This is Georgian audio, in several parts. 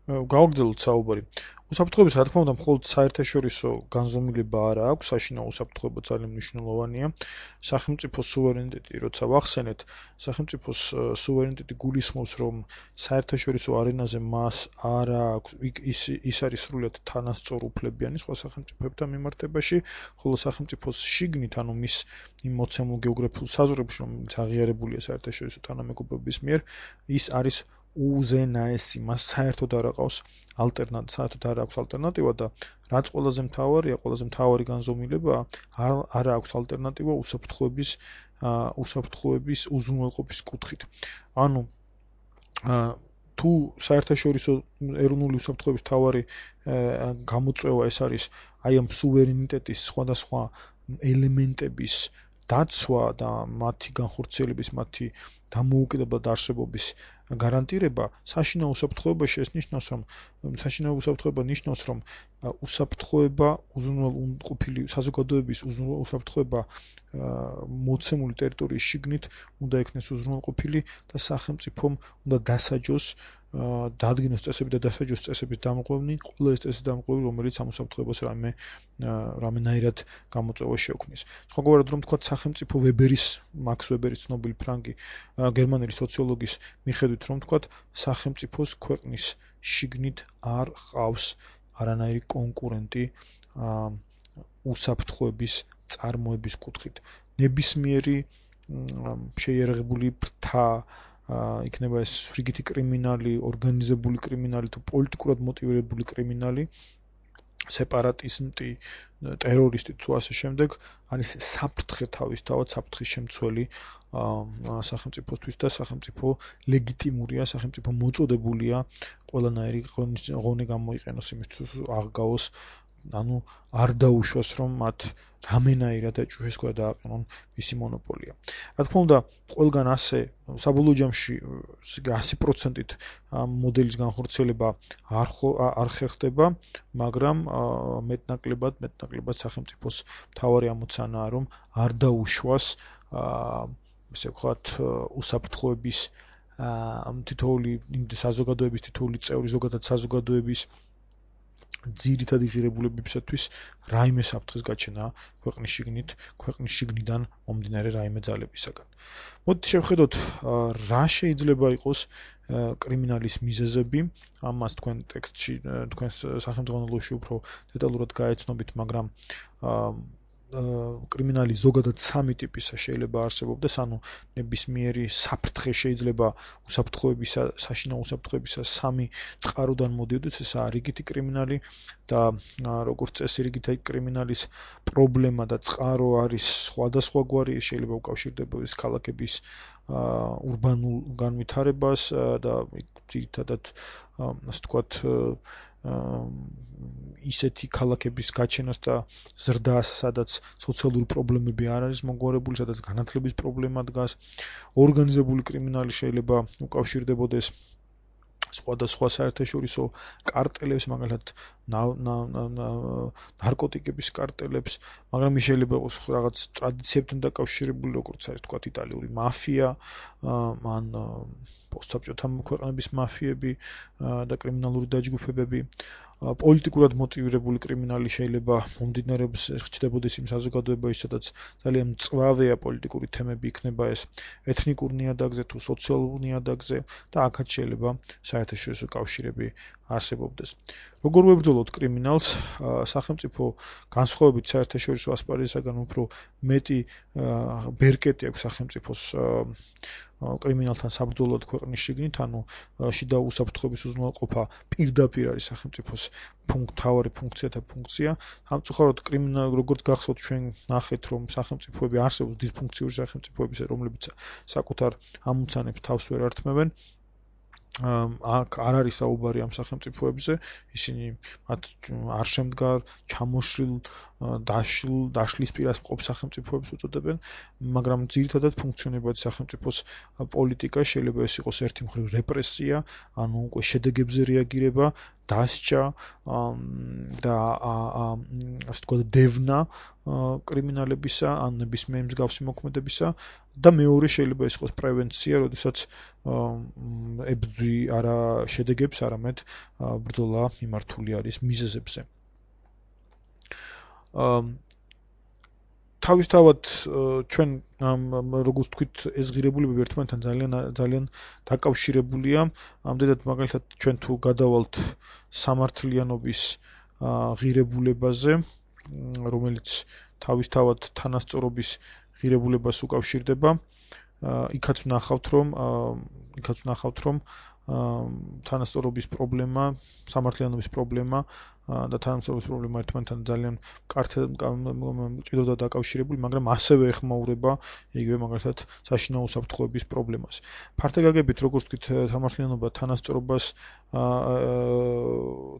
გავაგრძელოთ საუბარი. უსაფრთხოების, რა თქმა უნდა, მხოლოდ საერთაშორისო განზომილება არ აქვს, საშინაო უსაფრთხოება ძალიან მნიშვნელოვანია. სახელმწიფოს სუვერენიტეტი, როცა ვახსენეთ, სახელმწიფოს სუვერენიტეტი გულისხმობს, რომ საერთაშორისო არენაზე მას არ აქვს, ის არის სრულად თანასწორუფლებიანი სხვა სახელმწიფოებთან მიმართებაში, ხოლო სახელმწიფოს შიგნით, ანუ მის იმ მოცემულ გეოგრაფიულ საზღვრებში, რომელიც აღიარებულია საერთაშორისო თანამეგობრობის მიერ, ის არის უზენაესი, მას საერთოდ არ აქვს ალტერნატივა და რაც ყველაზე მთავარი განზომილებაა, არ აქვს ალტერნატივა უსაფრთხოების უზრუნველყოფის კუთხით. ანუ თუ საერთაშორისო ეროვნული უსაფრთხოების მთავარი გამოწვევა ეს არის აი ამ სუვერენიტეტის სხვადასხვა ელემენტების დაცვა და მათი განხორციელების, მათი დამოუკიდებლად არსებობის გარანტირება, საშინაო უსაფრთხოებაში ეს ნიშნავს, რომ საშინაო უსაფრთხოება ნიშნავს, რომ უსაფრთხოება უზრუნველყოფილი საზოგადოების უსაფრთხოება მოცემული ტერიტორიის შიგნით უნდა იქნეს უზრუნველყოფილი და სახელმწიფომ უნდა დასაჯოს დადგინოს წესები და დასაჯოს წესების დამყარებანი, ყველა ეს წესის დამყარებანი, რომელიც ამ უსაფრთხოებას რამენაირად გამოწვევა შეუქმნის. სხვაგვარად რომ თქვა სახელმწიფო მაქს ვებერის ცნობილი ფრანგი გერმანელი სოციოლოგის მიხედვით რომ თქვა სახელმწიფოს ქვეყნის შიგნით არ ყავს არანაირი კონკურენტი უსაფრთხოების წარმოების კუთხით. ნებისმიერი შეიარაღებული ფრთა იქნება ეს რიგითი კრიმინალი, ორგანიზებული კრიმინალი თუ პოლიტიკურად მოტივირებული კრიმინალი, სეპარატისტი, ტერორისტი თუ ასე შემდეგ, არის საფრთხე თავისთავად, საფრთხის შემცველი სახელმწიფოსთვის და სახელმწიფო ლეგიტიმურია, სახელმწიფო მოწოდებულია ყველანაირი ღონე გამოიყენოს იმისთვის აღგავოს, ანუ არ დაუშვას რომ მათ რამენაირად აჭუხეს და დააყენონ მისი მონოპოლია. რა თქმა უნდა, ყველგან ასე საბოლოო ჯამში 100%-ით მოდელის განხორციელება არ ხერხდება, მაგრამ მეტნაკლებად სახელმწიფოს მთავარი ამოცანაა, რომ არ დაუშვას ესე ვთქვათ უსაფრთხოების თითოეული საზოგადოების თითოეული წევრი, ზოგადად საზოგადოების ძირითადი ღირებულებებისათვის რაიმე საფრთხის გაჩენა ქვეყნის შიგნიდან მომდინარე რაიმე ძალებისაგან. მოდით შევხედოთ რა შეიძლება იყოს კრიმინალის მიზეზები, ამას თქვენ ტექსტში, თქვენ სახელმძღვანელოში უფრო დეტალურად გაეცნობით, მაგრამ კრიმინალი ზოგადად სამი ტიპისა შეიძლება არსებობდეს, ანუ ნებისმიერი საფრთხე შეიძლება საშინაო უსაფრთხოებისა სამი წყაროდან მოდიოდეს, ესაა რიგითი კრიმინალი და როგორც წესი რიგითი კრიმინალის პრობლემა და წყარო არის სხვადასხვაგვარი, შეიძლება უკავშირდებოდეს ქალაქების ურბანულ განვითარებას და ძირითადად ასე ვთქვათ ისეთი ქალაქების გაჩენას და ზრდას, სადაც სოციალური პრობლემები არ არის მოგვარებული, სადაც განათლების პრობლემა დგას. ორგანიზებული კრიმინალი შეიძლება უკავშირდებოდეს სხვადასხვა საერთაშორისო კარტელებს, მაგალითად ნარკოტიკების კარტელებს, მაგრამ ის შეიძლება იყოს რაღაც ტრადიციებთან დაკავშირებული, როგორც არის თქვათ იტალიური მაფია, ან პოსტსაბჭოთა ქვეყნების მაფიები და კრიმინალური დაჯგუფებები. პოლიტიკურად მოტივირებული კრიმინალი შეიძლება მომდინარეობს ხდებოდეს იმ საზოგადოებაში, სადაც ძალიან მწვავეა პოლიტიკური თემები, იქნება ეს ეთნიკურ ნიადაგზე თუ სოციალურ ნიადაგზე და აქაც შეიძლება საერთაშორისო კავშირები არსებობდეს. როგორ ვებრძოლოთ კრიმინალს? სახელმწიფო განსხვავებით საერთაშორისო ასპარეზისაგან უფრო მეტი ბერკეტი აქვს სახელმწიფოს კრიმინალთან საბრძოლოდ ქვეყნის შიგნით, ანუ შიდა უსაფრთხოების უზრუნველყოფა პირდაპირ არის სახელმწიფოს მთავარი ფუნქცია. სამწუხაროდ კრიმინალი, როგორც გახსოვთ, ჩვენ ნახეთ, რომ სახელმწიფოები არსებობს დისფუნქციური სახელმწიფოები, რომლებიც საკუთარ ამოცანებს თავს ვერ ართმევენ. აქ არ არის საუბარი ამ სახელმწიფოებზე, ისინი მათ არ შემდგარ, ჩამოშლილ, დაშლის პირას მყოფ სახელმწიფოებს უწოდებენ, მაგრამ ძირითადად ფუნქციონირებადი სახელმწიფოს პოლიტიკა შეიძლება ეს იყოს ერთი მხრივ რეპრესია, ანუ უკვე შედეგებზე რეაგირება დასჯა და ასე ვთქვათ დევნა კრიმინალებისა ან ნებისმიერ მსგავსი მოქმედებისა და მეორე შეიძლება ეს იყოს პრევენცია, როდესაც ებრძვი არა შედეგებს, არამედ ბრძოლა მიმართული არის მიზეზებზე. თავისთავად ჩვენ როგორც ვთქვით ეს ღირებულება ერთმანეთთან ძალიან დაკავშირებულია. ამდენად მაგალითად ჩვენ თუ გადავალთ სამართლიანობის ღირებულებაზე, რომელიც თავისთავად თანასწორობის ღირებულებას უკავშირდება, იქაც ვნახავთ რომ თანასწორობის პრობლემა, სამართლიანობის პრობლემა და თანასწორობის პრობლემა ერთმანეთთან ძალიან ჭიდროდაა დაკავშირებული, მაგრამ ასევე ეხმაურება იგივე მაგალითად საშინაო უსაფრთხოების პრობლემას. ფართე გაგებით, როგორც ვთქვით, სამართლიანობა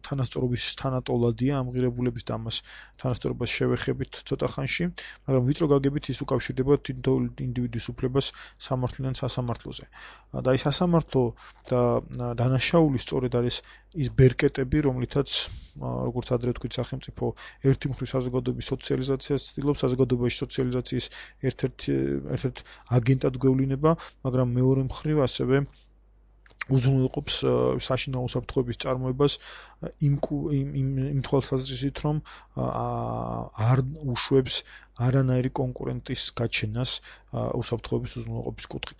თანასწორობის თანატოლადია ამ ღირებულების და ამას თანასწორობას შევეხებით ცოტა ხანში, მაგრამ ვიწრო გაგებით ის უკავშირდება თითოეულ ინდივიდის უფლებას სამართლიან სასამართლოზე. და ის სასამართლო და დანაშაული სწორედ არის ის ბერკეტები, რომლითაც როგორც ადრე ვთქვით, სახელმწიფო ერთი მხრივ საზოგადოების სოციალიზაციას ცდილობს, საზოგადოებაში სოციალიზაციის ერთ-ერთ აგენტად გვევლინება, მაგრამ მეორე მხრივ ასევე უზრუნველყოფს საშინაო უსაფრთხოების წარმოებას იმ თვალსაზრისით, რომ არ უშვებს არანაირი კონკურენტის გაჩენას უსაფრთხოების უზრუნველყოფის კუთხით.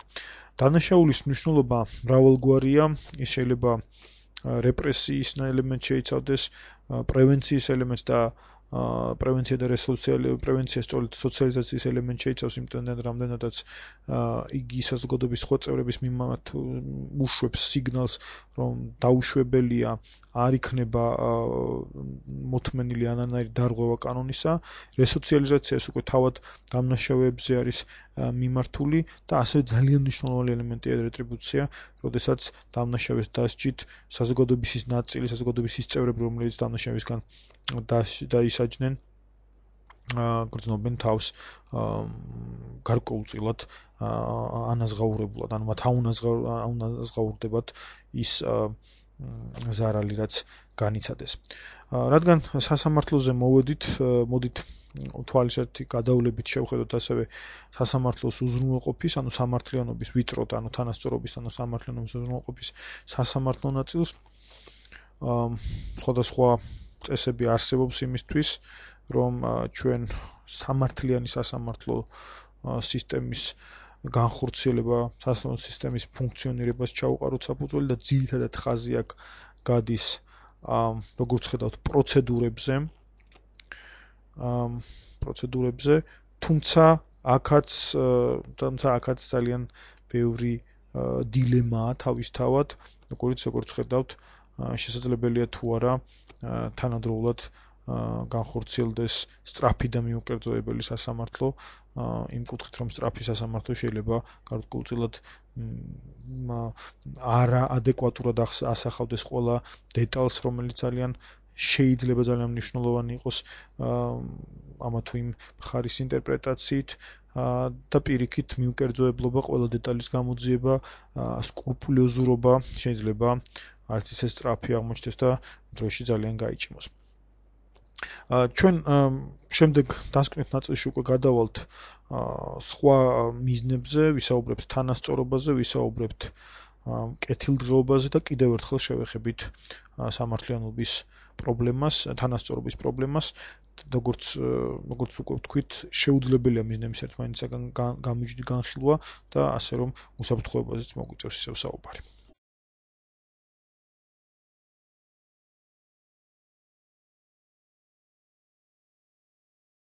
დანაშაულის მნიშვნელობა მრავალგვარია, ის შეიძლება რეპრესიის ელემენტს შეიცავდეს, პრევენციის ელემენტს და პრევენცია და პრევენცია სწორედ სოციალიზაციის ელემენტს შეიცავს, იმიტომ რომ რამდენადაც იგი საზოგადოების სხვა წევრების მიმართ უშვებს სიგნალს, რომ დაუშვებელია არ იქნება მოთმენილი არანაირი დარღვევა კანონისა, რესოციალიზაცია ეს უკვე თავად დამნაშავეებზე არის მიმართული და ასევე ძალიან მნიშვნელოვანი ელემენტია რეტრიბუცია, როდესაც დამნაშავეს დასჯით საზოგადოების ის ნაწილი, საზოგადოების ის წევრები, რომლებიც დამნაშავისგან დაისაჯნენ, გრძნობენ თავს გარკვეულწილად ანაზღაურებულად, ანუ მათ აუნაზღაურდებათ ის ზარალი, რაც განიცადეს. რადგან სასამართლოზე მოდით თვალისერთი გადავლებით შევხედოთ ასევე სასამართლოს უზრუნველყოფის, ანუ სამართლიანობის ვიწროდ, ანუ თანასწორობის, ანუ სამართლიანობის უზრუნველყოფის სასამართლო ნაწილს. სხვადასხვა წესები არსებობს იმისთვის, რომ ჩვენ სამართლიანი სასამართლო სისტემის განხორციელება, სასამართლო სისტემის ფუნქციონირებას ჩაუყაროთ საფუძველი და ძირითადად ხაზი აქ გადის როგორც ხედავთ პროცედურებზე, თუმცა აქაც ძალიან ბევრი დილემაა თავისთავად, როგორც ხედავთ, შესაძლებელია თუ არა თანადროულად განხორციელდეს სწრაფი და მიუკერძოებელი სასამართლო, იმ კუთხით, რომ სწრაფი სასამართლო შეიძლება გარკვეულწილად არაადეკვატურად ასახავდეს ყველა დეტალს, რომელიც შეიძლება ძალიან მნიშვნელოვანი იყოს ამა თუ იმ მხარის ინტერპრეტაციით და პირიქით მიუკერძოებლობა, ყველა დეტალის გამოძიება, სკრუპულოზურობა შეიძლება არც ისე სწრაფი აღმოჩნდეს და დროში ძალიან გაიჭიმოს. ჩვენ შემდეგ დასკვნით ნაწილში უკვე გადავალთ სხვა მიზნებზე, ვისაუბრებთ თანასწორობაზე, ვისაუბრებთ კეთილდღეობაზე და კიდევ ერთხელ შევეხებით სამართლიანობის პრობლემას, თანასწორობის პრობლემას, როგორც უკვე ვთქვით, შეუძლებელია მიზნების ერთმანეთისაგან გამიჯდი განხილვა და ასე რომ უსაფრთხოებაზეც მოგვიწევს ისევ საუბარი.